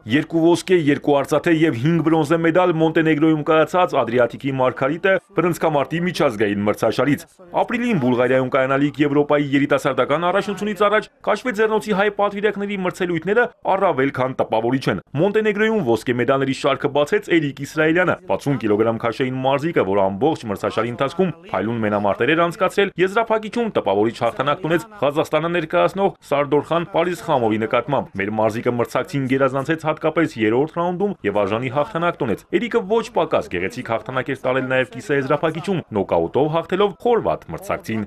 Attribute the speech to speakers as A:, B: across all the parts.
A: 2 ոսկե, 2 արծաթե եւ 5 բրոնզե մեդալ Մոնտենեգրոյում կայացած Ադրիատիկի Մարգարիտը բռնցքամարտի միջազգային մրցաշարից։ Ապրիլին Բուլղարիայում կայանալիք Եվրոպայի երիտասարդական առաջնությունից առաջ Քաշվե ձեռնոցի հայ պատվիրակների մրցելույթները առավել քան տպավորիչ են։ Մոնտենեգրոյում ոսկե մեդալների շարքը բացեց Էրիկ Իսրայելյանը, 60 կիլոգրամ քաշային մարզիկը, որ ամբողջ մրցաշարի ընթացքում փայլուն մենամարտեր էր անցկացրել, եզրափակիչում տպավորիչ հաղթանակ տունեց Ղազախստանը ներկայացնող Սարդորխան Պարիզխամովի նկատմամբ։ Մեր մարզիկը մրցակցին գերազանցեց հատկապես 3-րդ ռաունդում եւ արժանի հաղթանակ տոնեց։ Էրիկը ոչ պակաս գեղեցիկ հաղթանակ էր տարել նաեւ կիսաեզրափակիչում, նոկաուտով հաղթելով խորվաթ մրցակցին։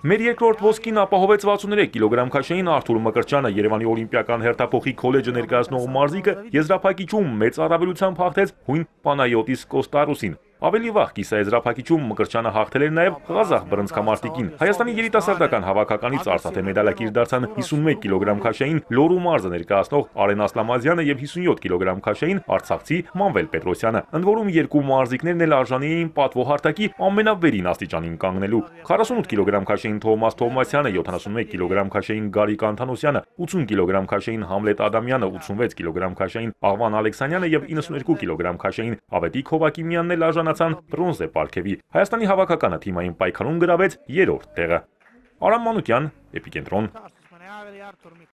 A: Մեր երկրորդ ոսկին ապահովեց 63 կիլոգրամ քաշային Արթուր Մկրտչյանը, Երևանի օլիմպիական հերթափոխի քոլեջը ներկայացնող մարզիկը եզրափակիչում մեծ առավելությամբ հաղթեց հույն Պանայոտիս Կոստարոսին։ Ավելի վաղ կիսաեզրափակիչում Մկրտչյանը հաղթել էր նաև ղազախ բռնցքամարտիկին։ Հայաստանի երիտասարդական հավաքականից արծաթե մեդալակիր դարձան 51 կիլոգրամ քաշային Լոռու մարզը ներկայացնող Արեն Ասլամազյանը եւ 57 կիլոգրամ քաշային արցախցի Մանվել Պետրոսյանը։ Ընդ որում երկու մարզիկներն էլ արժանի էին պատվոհարտակի ամենավերին աստիճանին կանգնելու։ 48 կիլոգրամ քաշային Թովմաս Թովմասյանը, 71 կիլոգրամ քաշային Գարիկ Անթանոսյանը, 80 կիլոգրամ քաշային Համլետ Ադամյանը, 86 կիլոգրամ քաշային Աղվան Ալեքսանյանը եւ 92 կիլոգրամ քաշային Ավետիք Հովակիմյանն էլ արժանացան բրոնզե պարգևի։ Հայաստանի հավաքականը թիմային պայքարում գրավեց 3-րդ տեղը։ Արամ Մանուկյան, Էպիկենտրոն։